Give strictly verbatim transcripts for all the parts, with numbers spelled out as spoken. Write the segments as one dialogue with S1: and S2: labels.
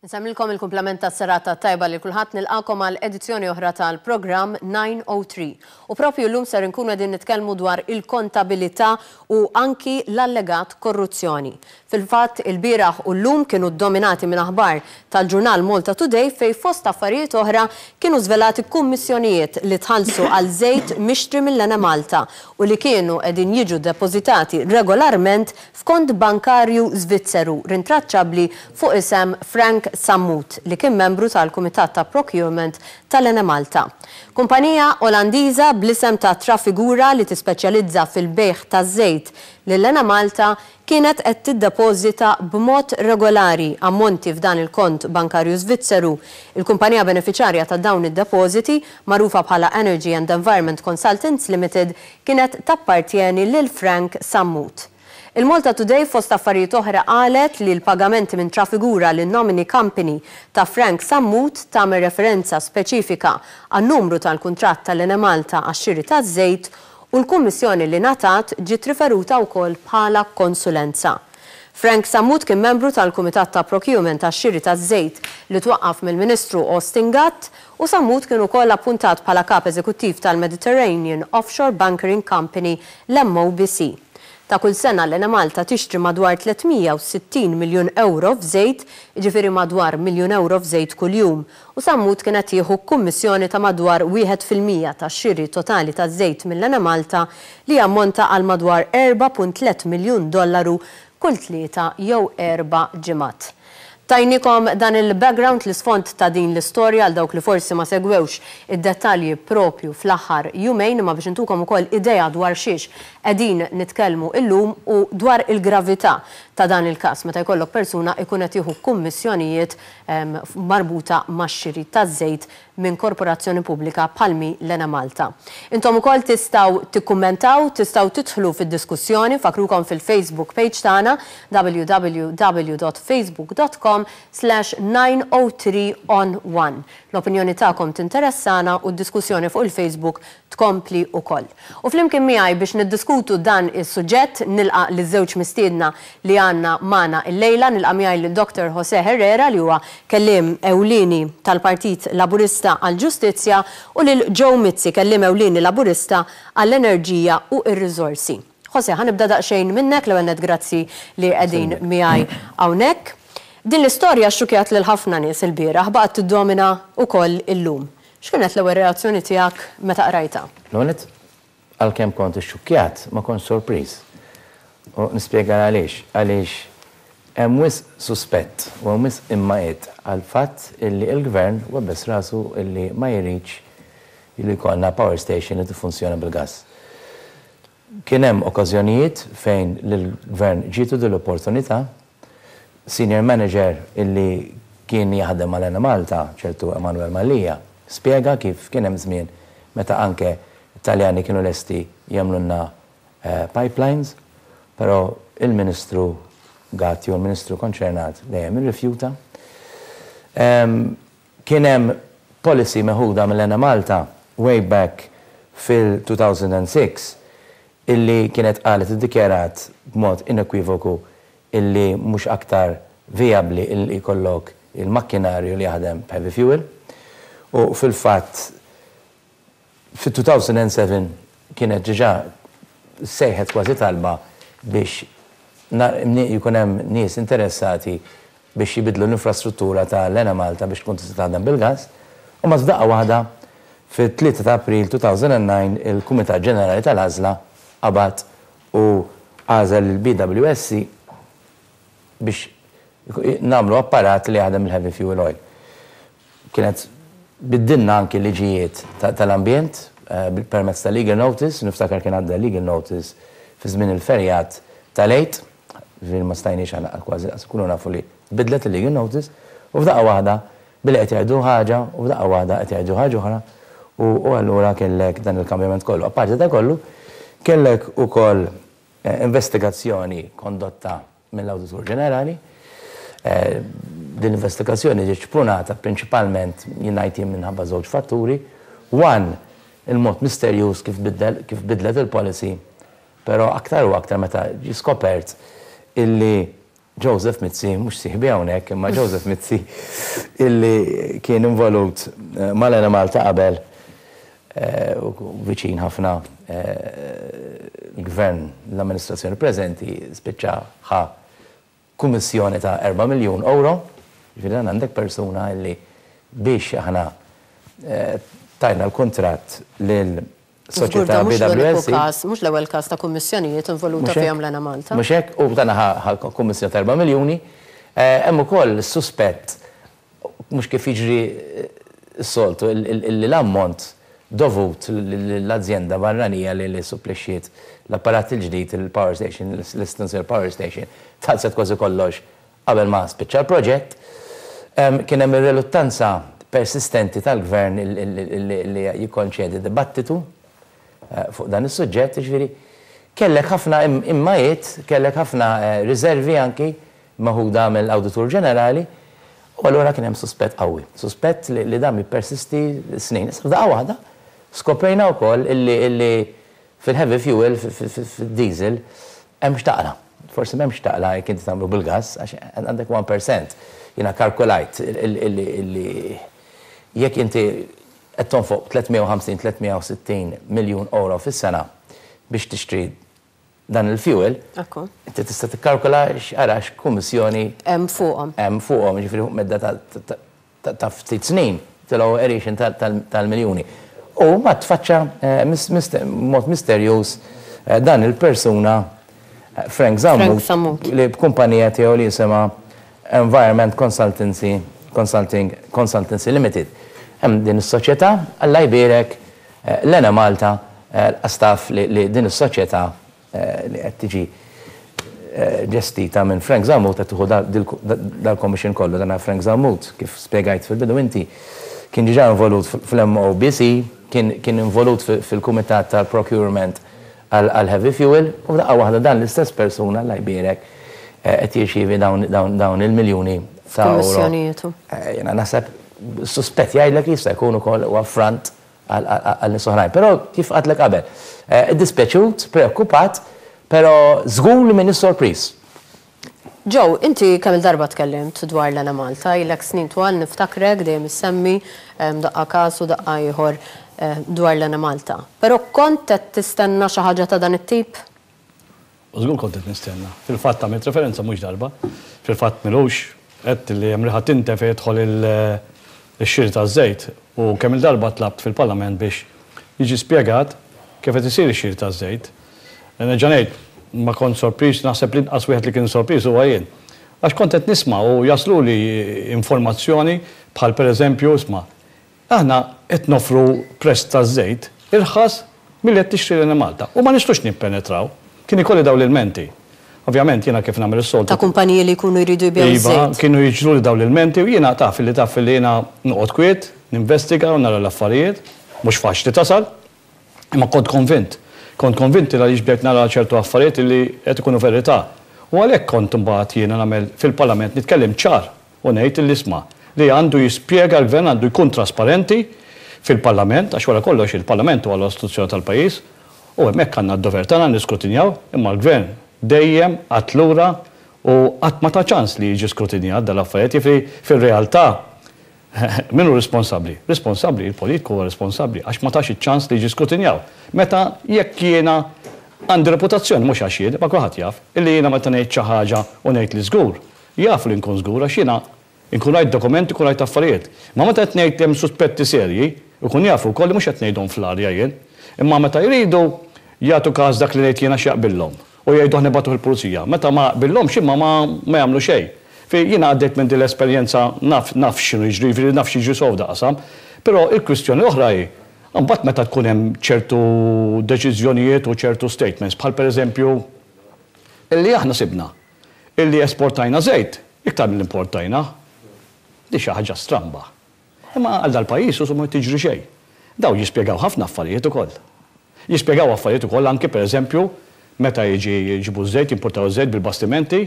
S1: Nsellmilkom il-kumplament ta' serata tajba li kulħadd. Nilqagħkom għal edizzjoni oħra tal-programm nine oh three. U propju llum ser nkunu qegħdin nitkellmu dwar il-kontabilità u anki l-allegat korruzzjoni. Fil-fatt, il-bieraħ u llum kienu dominati minn aħbar tal-ġurnal Malta Today, fej fost affarijiet oħra kienu żvelati kummissjonijiet li tħallsu għal żejt mixtri mill-Enemalta u li kienu qegħdin jiġu depożitati regolarment f'kont bankarju Svizzeru rintraċċabbli fuq isem Frank Sammut, li kien membru tal-Kumitat ta' Procurement tal-Enemalta. Kumpanija Olandiża bl-isem ta' Trafigura, li tispeċjalizza fil-bejħ ta' żejt lill-Enemalta, kienet qed tiddepożita b'mod regolari ammonti f'dan il-kont bankarju Svizzeru. Il-kumpanija beneficjarja ta' dawn id-depożiti, magħrufa bħala Energy and Environment Consultants Limited, kienet tappartjeni lil Frank Sammut. Il-Malta Today fost affarijiet oħra qalet li l-pagamenti minn Trafigura lin nominee company ta' Frank Sammut tagħmel referenza speċifika għan-numru tal-kuntratt tal-Enemalta għax-xiri taż-żejt, u l-kummissjoni li ngħatat ġiet riferuta wkoll bħala konsulenza. Frank Sammut kien membru tal-Kumitat ta' Procurement għax-xiri taż-żejt li twaqqaf mill-Ministru Austin Gatt, u Sammut kien ukoll appuntat bħala kap eżekuttiv tal-Mediterranean Offshore Bunkering Company, l-M O B C. Ta' kull sena l-Enemalta tixtri madwar tliet mija u sittin miljun euro f'żejt, jiġifieri madwar miljun euro f'żejt kuljum. U Sammut kienet jieħu kummissjoni ta' madwar wieħed fil-mija tax-xiri totali ta' żejt mill-Enemalta, li jammonta għal madwar erbgħa punt tlieta miljun dollaru kull tlieta jew erba' ġimgħat. Tajnikom dan il-background, l-isfond ta' din l-istorja, għal dawk li forsi ma segwewx id-dettalji propju fl-aħħar jumejn, imma biex intukom ukoll idea dwar xiex qegħdin nitkellmu illum u dwar il-gravità ta' dan il-każ meta jkollok persuna ikun qed jieħu kummissjonijiet marbuta max-xiri taż-żejt minn korporazzjoni pubblika bħalma hi l-Enemalta. Intom ukoll tistgħu tikkummentaw, tistgħu tidħlu fid-diskussjoni. Infakkrukom fil-Facebook page tagħna, W W W dot facebook dot com slash nine oh three on one. L-opinjoni tagħkom tinteressana u d-diskussjoni fuq il-Facebook tkompli ukoll. U flimkien miegħi biex niddiskutu dan is-suġġett nilqa' liż-żewġ mistiedna li għandna magħna illejla. Nilqa' miegħi lil Doctor Jose Herrera, li huwa kelliem ewlieni tal-Partit Laburista għall-Ġustizzja, u lil Joe Mizzi, kelliem ewlieni Laburista għall-Enerġija u r-Riżorsi. Jose, ħa nibda daqsxejn minnek. L-ewwel, grazzi li qegħdin miegħi hawnhekk. Din l-istorja xxukjat lil ħafna nies il-bieraħ, baqgħet tiddomina wkoll illum. X'kienet l-ewwel reazzjoni tiegħek meta qrajta?
S2: L-ewwel, għalkemm kont ixxukkjat, ma kont sorpriż. U nispjega għaliex. Għaliex hemm wisq suspett u hemm wisq immajiet għal fatt illi il-gvern webbes rasu illi ma jridx illi jkollna power station li tiffunzjona bil-gas. Kien hemm okkażjonijiet fejn l-gvern ġietu din l-opportunità. Senior manager illi kien jaħdem mal Malta, ċertu Emanuel Mallia, spjega kif kien hemm żmien meta anke Italjani kienu lesti jagħmlulna eh, pipelines, però il-Ministru Gatt u l-Ministru konċernat dejjem irrifjuta. Kien hemm policy meħuda mill-Enemalta way back fil-elfejn u sitta illi kienet qalet, iddikjarat b'mod inekwivoku illi mhux aktar viabli illi jkollok il-makkinarju li jaħdem heavy fuel. U fil-fatt fil-elfejn u sebgħa kienet diġà sejħet kważi talba biex jkun hemm nies interessati biex jibidlu l-infrastruttura ta' l-Enemalta biex tkun tista' taħdem bil-gas. U ma f'daqqa waħda fit-tlieta ta' April elfejn u disa' il-Kumitat Ġenerali tal-Għażla qabad u għażel il-B W S C biex nagħmlu apparat li jaħdem il-heavy fuel oil. Kienet biddilna anki liġijiet tal-ambjent eh, permezz ta' legal notice. Niftakar kien għadda legal notice fi żmien il-ferjat tal-Għid, ġifieri ma stajniex għana kważi kunu nafu li bidlet il-legal notice, u f'daqqa waħda billi qed jgħidu ħaġa u f'daqqa waħda qed jgħidu ħaġa oħra, u allura kellek dan il-kambjament kollu. Apparti da kollu, kellek ukoll eh, investigazzjoni kondotta mill-Awditur Ġenerali. Eh, din l-investigazzjoni ġiet xprunata prinċipalment, jien ngħid, minħabba żewġ fatturi. One, il-mod misterjuż kif kif bidlet il-policy, pero aktar u aktar meta ġi skopert illi Joseph Mizzi, mhux sieħbi hawnhekk, imma Joseph Mizzi illi kien involut eh, mal-Enemalta qabel eh, u viċin ħafna eh, l-gvern, l-amministrazzjoni preżenti, spiċċa ħa kummissjoni ta' erba' miljun euro. Ġifieri dan għandek persuna illi biex aħna tajna l-kuntratt lil soċjetà B W S C.
S1: Mhux l-ewwel każ ta' kummissjonijiet involuta fihom l-Enemalta.
S2: Mhux hekk, u dan ħa kummissjoni ta' erba' miljuni. Hemm ukoll suspett, mhux kif jiġri s-soltu, illi l-ammont dovut l-azjenda barranija li li supplixxiet l-apparat il-ġdid, il-power station, l-estensjoni power station, tħallset kważi kollox qabel ma spiċċa l-proġett. Kien hemm ir-reluttanza persistenti tal-gvern li jikkonċedi dibattitu eh, fuq dan is-suġġett, ġifieri kellek ħafna immajiet, kellek ħafna eh, riservi anki meħuda mill-Awditur Ġenerali, u allura kien hemm suspett qawwi. Suspett li dan jippersisti snin. Issa f'daqqa waħda skoprejna wkoll illi fil-heavy fuel, fil-diesel, hemm x'taqla. Forsi m'hemmx taqla jekk inti tagħmlu bil-gas, għax għandek wieħed fil-mija. Jiena kalkulajt illi jekk inti qed tonfoq tliet mija u ħamsin tliet mija u sittin miljun euro fis-sena biex tixtri dan il-fuel, inti tista' tikkalkula x'ara x'kummissjoni
S1: hemm fuqhom.
S2: Hemm fuqhom, ġifieri fuq medda ta' ftit snin tilgħu għeriexen tal-miljuni. U ma tfaċċa eh, mod misterjuż eh, dan il-persuna eh, Frank Zammut li b'kumpanija tiegħu li jisimha Environment Consultancy Consulting Consultancy Limited. Hemm din is-soċjetà, Alla jbierek l-Enemalta l-staff li din is-soċjetà li qed tiġi ġestita minn Frank Zammut qed tieħu dal-commission kollu. Dan Frank Zammut, kif spjegajt fil-bidu inti, kien diġà involut fl-M O B C, kien involut fil-Kumitat tal-Procurement għal-Heavy Fuel, u daqqa waħda dan l-istess persuna, Alla jbierek, qed jirċievi dawn il-miljuni ta' euro. Jiena naħseb suspett jgħidlek li jista' jkun ukoll huwa front għal nies oħrajn. Però kif għedtlek qabel, dispjaċut, preokkupat, però żgur li m'iniex sorpriż.
S1: Joe, inti kemm il-darba tkellimt dwar l-Enemalta, ilek snin twal niftakrek dejjem issemmi daqqa każ u daqqa ieħor dwar l-Enemalta. Però kont qed tistenna xi ħaġa ta' dan it-tip?
S3: Żgur kont qed nistenna. Fil-fatt għamilt referenza mhux darba. Fil-fatt m'ilux għedt li hemm riħa tinten fejn jidħol il-xiri ta' żejt u kemm il-darba tlabt fil-Parlament biex jiġi spjegat kif qed isir ix-xiri ta' żejt. Nerġa' ngħid, ma kont sorpriż, naħseb li inqas wieħed li kien sorpriż huwa jien. Għax kont qed nisma' u jaslu li informazzjoni bħal pereżempju, isma', aħna qed nofru prezz ta' żejt irħas milli qed tixtri l Malta u ma nistgħux nippenetraw. Kien ikolli dawn l-ilmenti. Ovvjament jiena kif nagħmel is-soltu.
S1: Ta' kumpaniji li jkunu jridu jbigħu
S3: Iva, kienu jiġru li dawn l-ilmenti u jiena taf li taf li jiena noqgħod kwiet, ninvestiga u nara l-affarijiet, mhux faċli tasal, imma kont konvint. Kont konvinti li bdejt nara ċertu affarijiet li qed ikunu verità. U għalhekk kont imbagħad jiena nagħmel fil-Parlament nitkellem ċar u ngħid li isma' li għandu jispjega l-gvern, għandu jkun trasparenti fil-Parlament, għax wara kollox il-Parlament huwa l-istituzzjoni tal-pajjiż u hemmhekk għandna d-dover tagħna niskrutinjaw, imma l-gvern dejjem qagħad lura u qatt ma ta ċans li jiġi skrutinjat dal-affarijiet. Jiġifieri fil-realtà min hu responsabbli? Responsabbli, il-politiku huwa responsabbli għax ma tax iċ-ċans li jiġi skrutinjaw. Meta jekk jiena għandi reputazzjoni, mhux għax jien, ma kulħadd jaf, illi jiena meta ngħid xi ħaġa u ngħid li żgur, jaf li nkun żgur għax jiena nkun rajt dokumenti, nkun rajt affarijiet. Ma meta qed ngħid hemm suspetti serji, ikun jafu wkoll li mhux qed ngħidhom fl-arja jien. Imma meta jridu jagħtu każ dak li ngħid jiena x'jaqbillhom u jgħidu aħna nibagħtu il-pulizija. Meta ma jaqbillhomx imma ma ma jagħmlu xejn. Fi jiena għaddejt minn din l-esperjenza, naf naf x'inhu jiġri, jiġifieri naf x'jiġri sew f'dal-qasam. Però il-kwistjoni oħra hi, mbagħad meta tkun hemm ċertu deċiżjonijiet u ċertu statements, bħal pereżempju illi aħna sibna illi esportajna żejt iktar mill-importajna. Di xi ħaġa stramba. Imma għal dal-pajjiż u ma tiġri xejn. Daw jispjegaw ħafna affarijiet ukoll. Jispjegaw affarijiet ukoll anke pereżempju meta jiġi jġibu żejt, jimportaw żejt bil-bastimenti,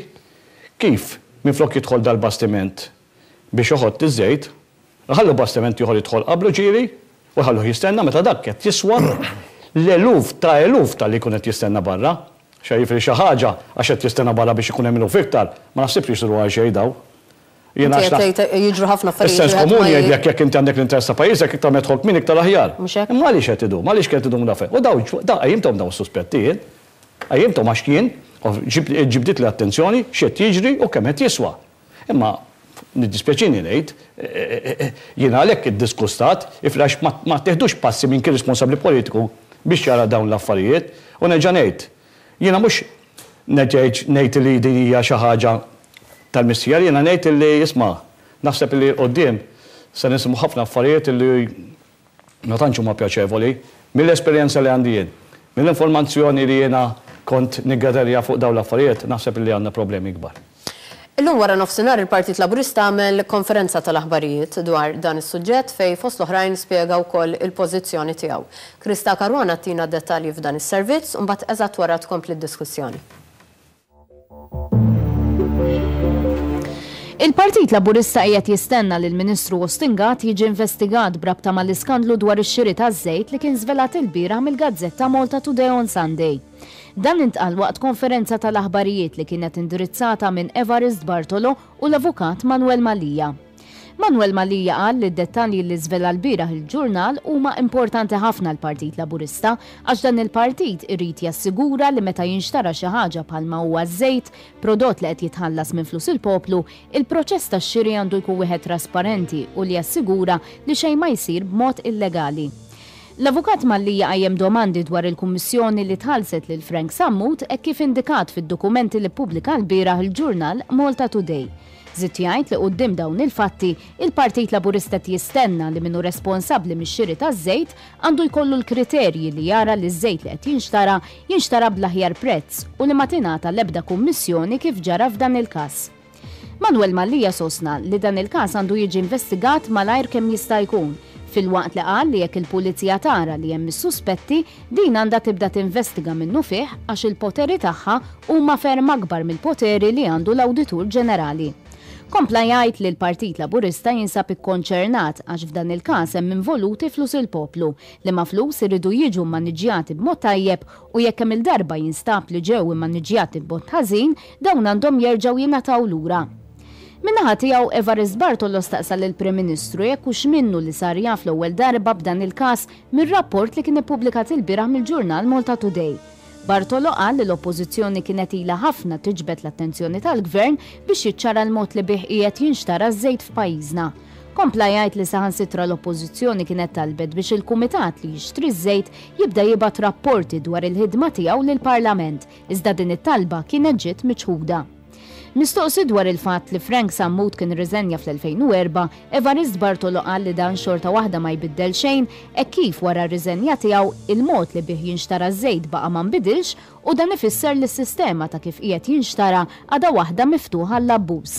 S3: kif minflok jidħol dal-bastiment biex joħod iż-żejt, ħallu bastiment ieħor jidħol qablu ġieli u ħallu jistenna meta dak qed jiswa l-eluf ta' eluf tal-li jkun qed jistenna barra. Xejn xi ħaġa għax qed jistenna barra biex ikun hemm iktar, ma naħsibx li jsiru għal xejn daw.
S1: Jiena jiġru ħafna affarijiet.
S3: Is-sens komuni jgħidlek jekk inti għandek l-interess ta' pajjiżek iktar ma jidħol kmin iktar aħjar. Imma għaliex qed idum? Għaliex qed idum dafe? U daw qajjimthom daw is-suspettijiet. Qajjimthom għax kien ġibdit li attenzjoni x'qed jiġri u kemm qed jiswa. Imma niddispjaċini ngħid, jiena għalhekk iddiskustat iflax ma teħdux passi minn kien responsabbli politiku biex jara dawn l-affarijiet u nerġa' ngħid. Jiena mhux ngħid li din hija xi ħaġa tal-missija, jiena ngħid li isma' naħseb li quddiem se nisimgħu ħafna affarijiet li ma tantx huma pjaċevoli mill-esperjenza li għandi jien, mill-informazzjoni li jiena kont niggaderja fuq dawn l-affarijiet, naħseb li għandna problemi kbar.
S1: Illum wara nofsinhar il-Partit Laburista għamel konferenza tal-aħbarijiet dwar dan is-suġġett fejn fost l-oħrajn spjega wkoll il-pożizzjoni tiegħu. Krista Caruana tina dettalji f'dan is-servizz u mbagħad eżatt wara tkompli d-diskussjoni.
S4: Il-Partit Laburista qiegħed jistenna li l-Ministru Austin Gatt jiġi investigat b'rabta mal-iskandlu dwar ix-xiri taż-żejt li kien żvelat ilbieraħ mill-gazzetta Malta Today on Sunday. Dan intqal waqt konferenza tal-aħbarijiet li kienet indirizzata minn Evarist Bartolo u l-avukat Manuel Mallia. Manuel Mallia qal li d-dettalji li żvela l-bieraħ il-ġurnal huma importanti ħafna l-Partit Laburista għax dan il-partit irid jassigura li meta jinxtara xi ħaġa bħalma huwa żejt, prodott li qed jitħallas minn flus il-poplu, il-proċess tax-xiri għandu jkun wieħed trasparenti u li jassigura li xejn ma jsir b'mod illegali. L-avukat Mallia qajjem domandi dwar il-kummissjoni li tħallset lil Frank Sammut hekk kif indikat fid-dokumenti li ppubblika l-bieraħ il-ġurnal Malta Today. Żied jgħid li quddiem dawn il-fatti, il-Partit Laburista jistenna li minnu responsabbli mix-xiri taż-żejt għandu jkollu l-kriterji li jara li ż-żejt li qed jinxtara jinxtara bl-aħjar prezz u li ma tingħata l-ebda kummissjoni kif ġara f'dan il-każ. Manuel Mallia sostna li dan il-każ għandu jiġi investigat malajr kemm jista' jkun, filwaqt li qal li jekk il-pulizija tara li hemm is-suspetti, din għandha tibda tinvestiga minnu fih għax il-poteri tagħha huma ferm akbar mill-poteri li għandu l-Awditur Ġenerali. Kompla jgħid li l-Partit Laburista jinsab ikkonċernat għax f'dan il-każ hemm involuti flus il-poplu li ma flus iridu jiġu mmaniġġjati b'mod tajjeb u jekk hemm il-darba jinstab li ġew immaniġġjati b'mod ħażin, dawn għandhom jerġgħu jingħataw lura. Min-naħa tiegħu Evarist Bartolo staqsa lill-Prim Ministru jekk hux minnu li sar jaf l-ewwel darba b'dan il-każ mir-rapport li kien ippubblikat ilbieraħ mill-ġurnal Malta Today. Bartolo qal li l-Oppożizzjoni kienet ilha ħafna tiġbed l-attenzjoni tal-Gvern biex jiċċara l-mod li bih qiegħed jinxtara ż-żejt f'pajjiżna. Kompla jgħid li saħansitra l-Oppożizzjoni kienet talbet biex il-Kumitat li jixtri ż-żejt jibda jibgħat rapporti dwar il-ħidma tiegħu lill-Parlament, iżda din it-talba kienet ġiet miċħuda. Mistoqsi dwar il-fatt li Frank Sammut kien riżenja fl-elfejn u erba', Evarist Bartolo qal li dan xorta waħda ma jbiddel xejn hekk kif wara r-riżenja tiegħu il-mod li bih jinxtara ż-żejt baqa' ma nbidilx u dan ifisser li s-sistema ta' kif qiegħed jinxtara għadha waħda miftuħa għall-abbuż.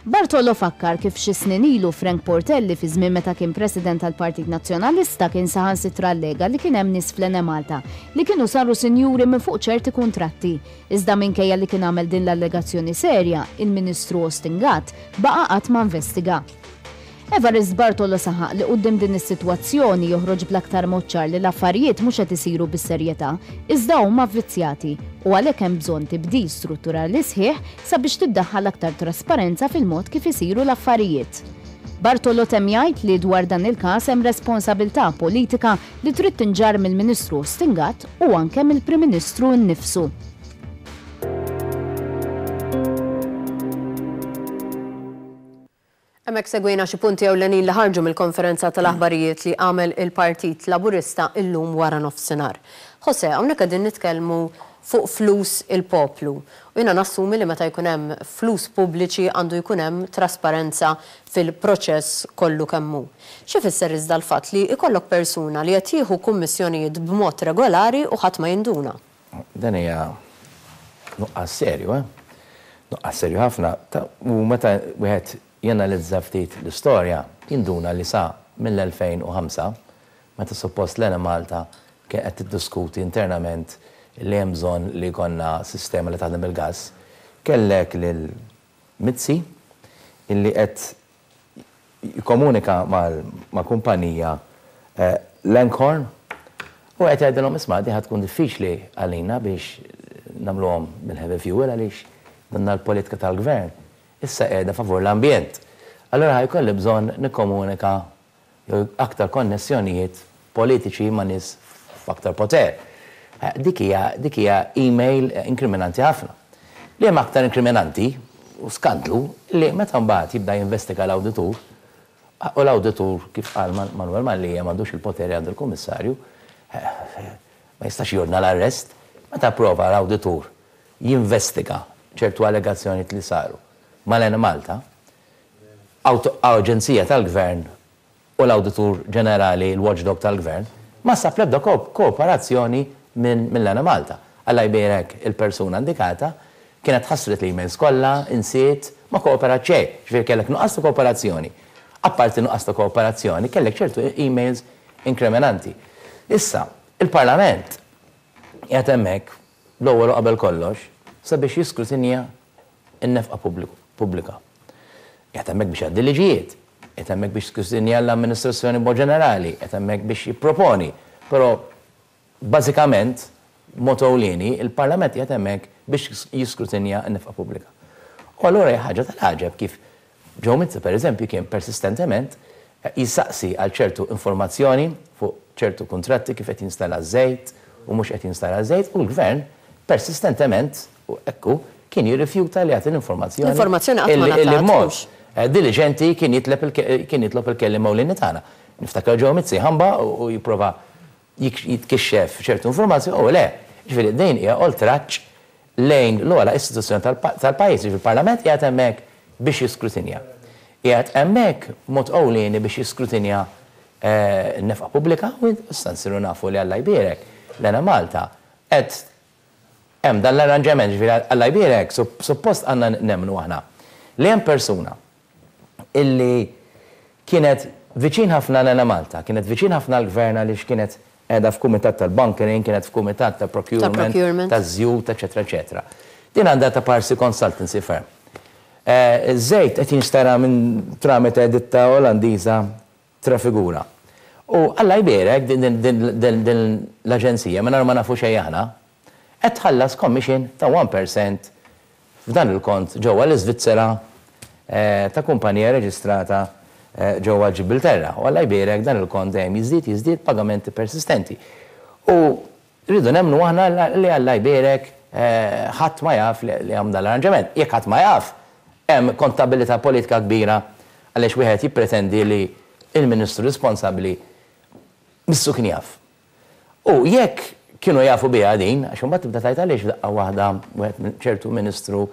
S4: Bartolo fakkar kif xi snin ilu Frank Portelli fi żmien meta kien President tal-Partit Nazzjonalista kien saħansitra allega li kien hemm nies fl-Enemalta li kienu saru sinjuri minn fuq ċerti kuntratti. Iżda minkejja li kien għamel din l-allegazzjoni serja, il-Ministru Austin Gatt baqa' qatt ma investiga. Evarist Bartolo saħaq li quddiem din is-sitwazzjoni joħroġ bl-aktar mod ċar li l-affarijiet mhux qed isiru bis-serjetà, iżda huma vvizzjati u għalhekk hemm bżonn tibdil strutturali sħiħ sabiex tiddaħħal aktar trasparenza fil-mod kif isiru l-affarijiet. Bartolo temm jgħid li dwar dan il-każ hemm responsabilità politika li trid tinġarr mill-Ministru Austin Gatt u anke mill-Prim Ministru nnifsu.
S1: Hemmhekk segwejna xi punti ewlenin li ħarġu mill-konferenza tal-aħbarijiet li għamel il-Partit Laburista illum wara nofsinhar. Jose, hawnhekk qegħdin nitkellmu fuq flus il-poplu. U jiena nassumi li meta jkun hemm flus pubbliċi għandu jkun hemm trasparenza fil-proċess kollu kemm hu. Xi fisser iżda l-fatt li jkollok persuna li qed jieħu kummissjonijiet b'mod regolari u ħadd ma jinduna?
S2: Dan hija nuqqas serju, eh? Nuqqas serju ħafna. U meta wieħed janalizza ftit l-istorja, jinduna li sa mill-elfejn u ħamsa, meta suppost l-Enemalta kien qed tiddiskuti internament li hemm bżonn li jkollna sistema li taħdem bil-gass, kellek lil Mizzi illi qed jikkomunika ma' kumpanija Langhorne u qed jgħidilhom isma' di ħad tkun diffiċli għalina biex nagħmluhom bil-heavy fuel għaliex danna l-politika tal-gvern issa qiegħda favur l-ambjent. Allora ħa jkolli bżonn nikkomunika jew aktar konnessjonijiet politiċi ma' nies f'aktar poter. Dik hija dik hija email inkriminanti ħafna. Li hemm aktar inkriminanti u skandlu li meta mbagħad jibda jinvestiga l-awditur, u l-awditur, kif qal Manuel Mallia, m'għandux il-poteri għand il-kummissarju, ma jistax jordna l-arrest. Meta prova l-awditur jinvestiga ċertu allegazzjoni li saru mal-Enemalta, aġenzija tal-gvern, u l-awditur ġenerali, il-watchdog tal-gvern, ma sab l-ebda kooperazzjoni minn l-Enemalta. Alla jbierek, il-persuna indikata kienet ħassret l-emails kollha, insiet, ma kooperat xejn, ġifieri kellek nuqqas ta' kooperazzjoni. Apparti nuqqas ta' kooperazzjoni, kellek ċertu emails inkriminanti. Issa, il-Parlament qiegħed hemmhekk l-ewwel u qabel kollox sabiex jiskrutinja n-nefqa pubblika. Qiegħed hemmhekk biex jgħaddi liġijiet, qiegħed hemmhekk biex jiskrutinja l-amministrazzjoni b'mod ġenerali, qiegħed hemmhekk biex jipproponi. Però bażikament, mod ewlieni, il-Parlament qiegħed hemmhekk biex jiskrutinja n-nefqa pubblika. U allura hija ħaġa tal-għaġeb kif Joe Mizzi, per eżempju, kien persistentement jissaqsi għal ċertu informazzjoni fuq ċertu kontratti, kif qed jinstalla żejt u mhux qed jinstalla żejt, u l-gvern persistentement u ekku kien jirrifjuta li jagħti l-informazzjoni.
S1: L-informazzjoni qatt ma
S2: Illi
S1: ngħatat,
S2: mod
S1: mhux.
S2: Diligenti kien jitleb kien jitlob il-kelliem ewlieni tagħna. Niftakar Joe Mizzi ħamba u jipprova jitkixxef ċertu informazzjoni u le. Ġifieri din hija oltraġġ lejn l-ogħla istituzzjoni tal-pajjiż, ġifieri il-Parlament qiegħed hemmhekk biex jiskrutinja. Qiegħed hemmhekk mod ewlieni biex jiskrutinja n-nefqa pubblika, u issa nsiru nafu li, Alla jbierek, l-Enemalta qed hemm dan l-arranġament, ġifieri, Alla jbierek, suppost għandna nemmnu aħna li hemm persuna illi kienet viċin ħafna l-Enemalta, kienet viċin ħafna l-gvern għaliex kienet qiegħda f'kumitat tal-bunkering, kienet f'kumitat tal-procurement, taż-żjut, eċetera, eċetera. Din għandha ta' parsi consultancy firm. Żejt qed jinxtara minn tramite ditta Olandiża Trafigura. U Alla jbierek, din l-aġenzija, minn ma nafu xejn aħna, qed tħallas commission ta' wieħed fil-mija f'dan il-kont ġewwa l-Iżvizzera ta' kumpanija reġistrata ġewwa Ġibilterra. U Alla jbierek, dan il-kont dejjem jiżdied, jiżdied, pagamenti persistenti. U rridu nemmnu aħna li, Alla jbierek, ħadd ma jaf li hemm dan l-arranġament. Jekk ħadd ma jaf, hemm kontabilità politika kbira għaliex wieħed jippretendi li il-ministru responsabbli missu kien jaf. U jekk kienu jafu biha din, għax imbagħad tibda tgħid għaliex daqqa waħda wieħed ċertu ministru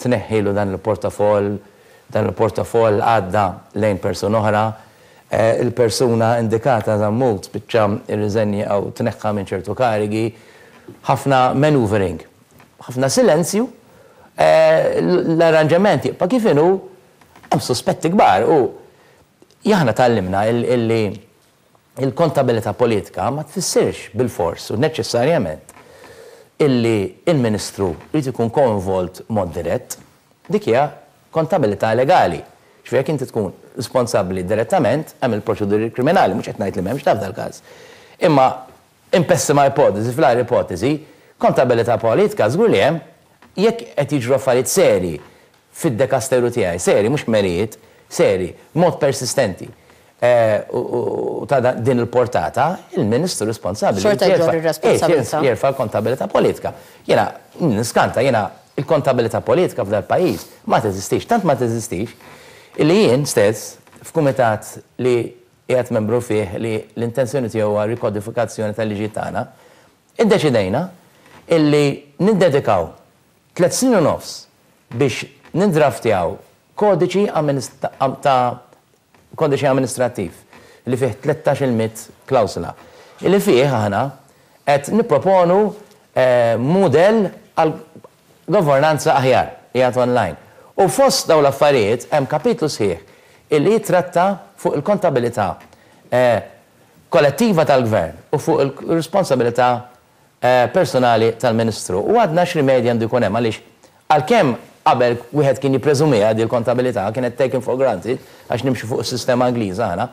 S2: tneħħilu dan il-portafoll, dan il-portafoll għadda lejn persuna oħra, il-persuna indikata Zammut spiċċa irriżenja jew tneħħa minn ċertu karigi, ħafna maneuvering, ħafna silenzju, l-arranġament jibqa' kif inhu, hemm sospetti kbar u aħna tgħallimna illi il-kontabilità politika ma tfissirx bil-fors u neċessarjament illi il-ministru jrid ikun koinvolt mod dirett. Dik hija kontabilità legali. Ġifieri jekk inti tkun responsabbli direttament, hemm il-proċeduri kriminali, mhux qed ngħid li m'hemmx taf dal-każ. Imma in pessima ipotesi, fl ipotesi, kontabilità politika żgur li hemm jekk qed jiġru affarijiet seri fid-dekasteru tiegħi, seri, mhux merijiet, seri, mod persistenti. U ta' din il-portata, il-ministru responsabbli.
S1: Xorta jġorr ir-responsabilità.
S2: Jerfa' l-kontabilità politika. Jiena niskanta, jiena il-kontabilità politika f'dal pajjiż ma teżistix, tant ma teżistix, illi jien stess f'kumitat li qiegħed membru fih li l-intenzjoni tiegħu huwa rikodifikazzjoni tal-liġi tagħna, iddeċidejna illi niddedikaw tliet snin u nofs biex nindraftjaw kodiċi ta' kodiċi amministrattiv li fih tlettax-il mitt klawsula. Illi fih aħna qed nipproponu mudell għal governanza aħjar qiegħed online. U fost dawn l-affarijiet hemm kapitlu sħiħ illi jitratta fuq il-kontabilità kollettiva tal-gvern u fuq il-responsabilità personali tal-ministru. U għadna x'rimedji għandu jkun hemm, għaliex għalkemm qabel wieħed kien jippreżumiha di l-kontabilità, kienet taken for granted għax nimxu fuq is-sistema Ingliża aħna,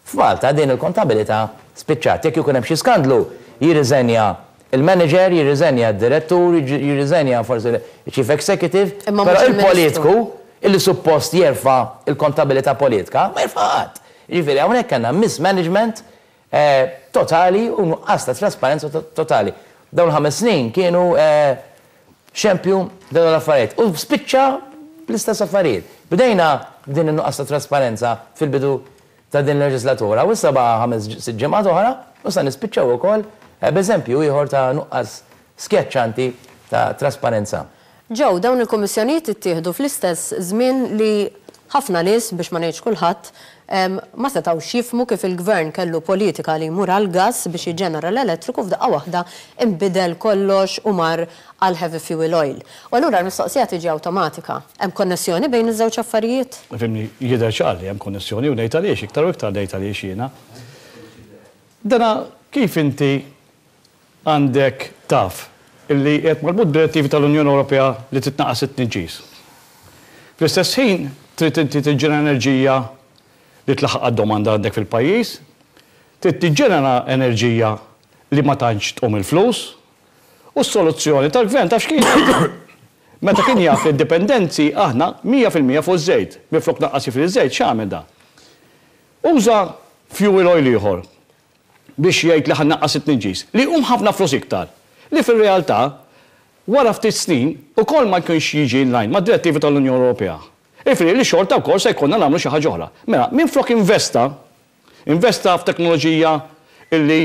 S2: f'Malta din il-kontabilità spiċċat. Jekk ikun hemm xi skandlu, jirriżenja Il-manager jirriżenja, d-direttur jirriżenja, forsi chief executive,
S1: Imma
S2: però
S1: mhux
S2: il-politiku illi suppost jerfa' il-kontabilità politika ma jerfa' qatt. Jiġifieri hawnhekk għandna mismanagement eh, totali u nuqqas ta' trasparenza to- totali. Dawn ħames snin kienu eh, xempju dawn l-affarijiet. U spiċċa bl-istess affarijiet. Bdejna din in-nuqqas ta' trasparenza fil-bidu ta' din il-leġislatura u issa baqa' ħames sitt ġimgħat oħra u sa nispiċċaw ukoll eh, b'eżempju ieħor ta' nuqqas skjaċċanti ta' trasparenza.
S1: Ġew, dawn il-kummissjonijiet ittieħdu fl-istess żmien li ħafna nies, biex ma ngħidx kulħadd, em, ma setgħux jifhmu kif il-gvern kellu politika li jmur għal gas biex jiġġenera l-elettriku, f'daqqa waħda imbidel kollox u mar għal heavy fuel oil. U allura l-mistoqsija tiġi awtomatika. Hemm konnessjoni bejn iż-żewġ affarijiet?
S3: Fhimni, jidher ċar li hemm konnessjoni u ngħid għaliex, iktar u iktar ngħid għaliex jiena. Dana kif inti għandek taf illi qed marbut direttivi tal-Unjoni Ewropea li titnaqqas it-tniġġis. Fl-istess ħin trid inti tiġġenera enerġija li tlaħħaq għad-domanda għandek fil-pajjiż, trid tiġġenera enerġija li ma tantx tqum il-flus, u s-soluzzjoni tal-gvern taf x'kienet? Meta kien jaf li d-dipendenzi aħna mija fil-mija fuq iż-żejt, minflok naqqas fil-żejt, x'għamel da? Uża fuel oil ieħor biex jgħid li ħa nnaqqas it-tniġġis, li hum ħafna flus iktar, li fil-realtà wara ftit snin ukoll ma jkunx jiġi in line ma' direttivi tal-Unjoni Ewropea. Ifri li xorta wkoll se jkollna nagħmlu xi ħaġa oħra. Mela, minflok investa, investa f'teknoloġija illi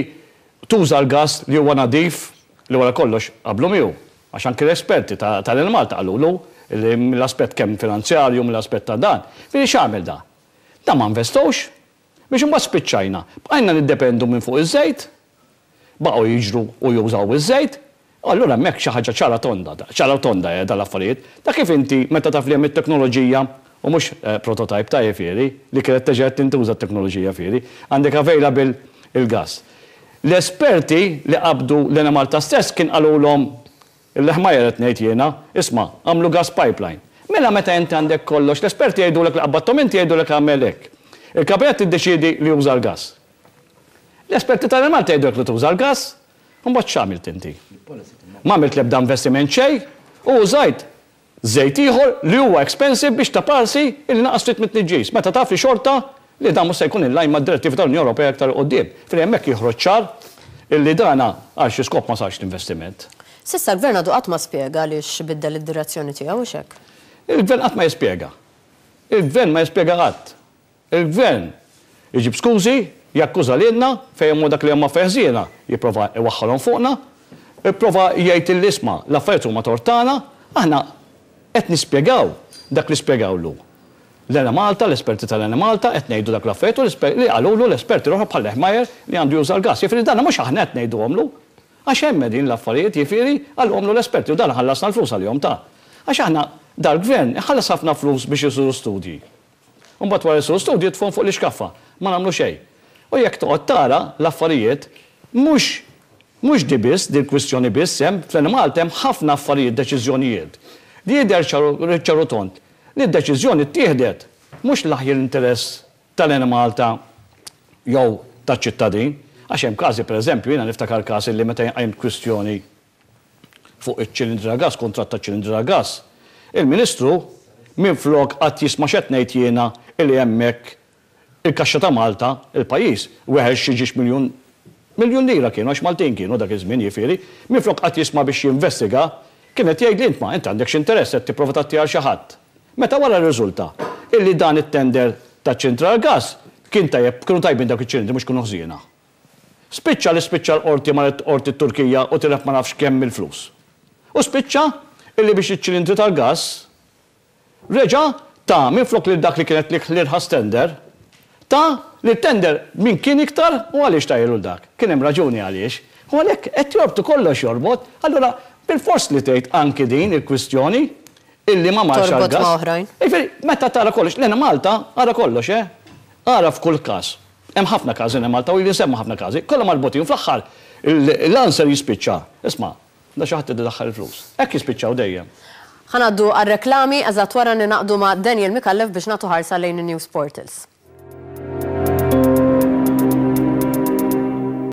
S3: tuża l-gas li huwa nadif, li wara kollox qablu miegħu. Għax anke l-esperti tal-Malta qalulu li mill-aspett kemm finanzjarju, mill-aspett ta' dan. Fili x'għamel da? Da ma investowx biex imbagħad spiċċajna. Bqajna niddependu minn fuq iż-żejt, baqgħu jiġru u jużaw iż-żejt, allura hemmhekk xi ħaġa ċara tonda, ċara tonda eh, dal-affarijiet. Ta' kif inti meta taf li hemm it-teknoloġija u mhux eh, prototype ta' jifieri li kienet teġa tintuża t-teknoloġija fieri, għandek available il-gas. L-esperti li qabdu l-Enemalta stess kien qalulhom il-leħmajer qed ngħid jiena, isma' għamlu gas pipeline. Mela meta inti għandek kollox, l-esperti jgħidulek li qabbattom inti, jgħidulek għamel hekk. Il-kabinet tiddeċiedi li juża l-gas. L-esperti tal-Malta jgħidulek li tuża l-gas, u mbagħad x'għamilt inti? Ma għamilt l-ebda investiment xejn u użajt żejt ieħor li huwa expensive biex ta' parsi illi naqas ftit mit-tniġġis. Meta taf li xorta li dan mhux se jkun in line mad-direttivi tal-Unjoni Ewropea aktar quddiem. Fil hemmhekk joħroġ ċar illi dana għal xi skop ma sarx l-investiment.
S1: S'issa l-gvern għadu qatt ma spjega għaliex biddel id-direzzjoni tiegħu, hux hekk?
S3: Il-gvern qatt ma jispjega. Il-gvern ma jispjega qatt. Il-gvern iġib skużi, jakkuża lilna fejn hu dak li huma feħżiena, jipprova iwaħħalhom fuqna, jipprova jgħid l-isma' l-affarijiet huma tortana, aħna qed nispjegaw dak li spjegawlu. L-Enemalta, l-esperti tal-Enemalta, qed ngħidu dak l-affarijiet u l-esper- li qalulu l-esperti l-oħra bħal Lehmajer li għandu juża l-gas. Jifieri dan mhux aħna qed ngħiduhomlu. Għax hemm din l-affarijiet, jifieri qalhomlu l-esperti u dan ħallasna l-flus għalihom ta'. Għax aħna dal-gvern ħallas ħafna flus biex isiru studji. Mbagħad wara jsiru studji tfun fuq l-iskaffa, ma nagħmlu xejn. U jekk toqgħod tara l-affarijiet mhux mhux di biss, di l-kwistjoni biss hemm fl-Malta, hemm ħafna affarijiet, deċiżjonijiet. Li jidher ċaru tond li d-deċiżjoni ttieħdet mhux l-aħjar interess tal-Enemalta jew taċ-ċittadin, għax hemm każi, pereżempju, jiena niftakar każ li meta qajmt kwistjoni fuq iċ-ċilindri ta' gas, kontratt ta' ċilindri ta' gas. Il-Ministru minflok qatt jisma' x'qed ngħid jiena illi hemmhekk il-kaxxa ta' Malta, il-pajjiż, weħel xi ġiex miljun miljun lira kienu, għax Maltin kienu dak iż-żmien jifieri, minflok qatt jisma' biex jinvestiga, kienet jgħid li int ma int għandek x'interess, qed tipprova tagħti għal xi ħadd. Meta wara rriżulta illi dan it-tender ta' ċilindri gas kien tajjeb, kienu tajbin dak iċ-ċilindri, mhux kienu ħżiena. Spiċċa li spiċċa l-qorti, marret qorti Turkija u tilef ma nafx kemm il-flus. U spiċċa illi biex iċ-ċilindri tal-gas reġa ta' minflok li dak li kienet li l-irħas tender, ta' li tender min kien iktar. U għaliex ta' dak? Kien hemm raġuni għaliex. U għalhekk qed jorbtu kollox jorbot, allura bil-fors li tgħid anki din il-kwistjoni illi ma marx
S1: Torbot
S3: għal-gas.
S1: ma' oħrajn.
S3: Jifieri, meta tara kollox, l-Enemalta, ara kollox, eh? Ara f'kull każ. Hemm ħafna każi Malta u li nsemmu ħafna każi, kollha marbutin fl-aħħar l-answer jispiċċa. Isma', da xi ħadd idaħħal il-flus. Hekk jispiċċaw dejjem.
S1: Ħa ngħaddu għal-reklami, eżatt wara ningħaqdu ma' Daniel Micallef biex nagħtu ħarsa lejn il-News Portals.